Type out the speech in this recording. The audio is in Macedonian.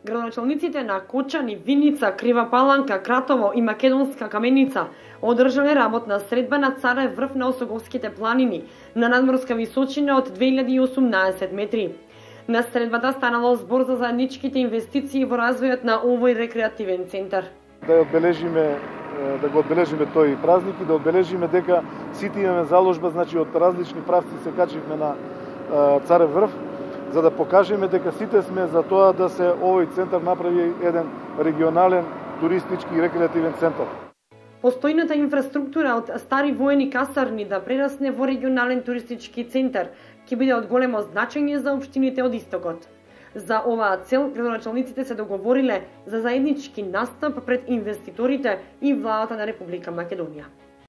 Градоначалниците на Кочани, Виница, Крива Паланка, Кратово и Македонска Каменица одржале работна средба на Царев врв на Осоговските планини на надморска височина од 2018 метри. На средбата станало збор за заедничките инвестиции во развојот на овој рекреативен центар. Да го одбележиме тој празник и да одбележиме дека сите имаме заложба, значи од различни правци се качивме на Царев врв, за да покажеме дека сите сме за тоа да се овој центар направи еден регионален туристички и рекреативен центар. Постојната инфраструктура од стари воени касарни да прерасне во регионален туристички центар ќе биде од големо значење за општините од Истокот. За оваа цел, градоначалниците се договориле за заеднички настап пред инвеститорите и владата на Република Македонија.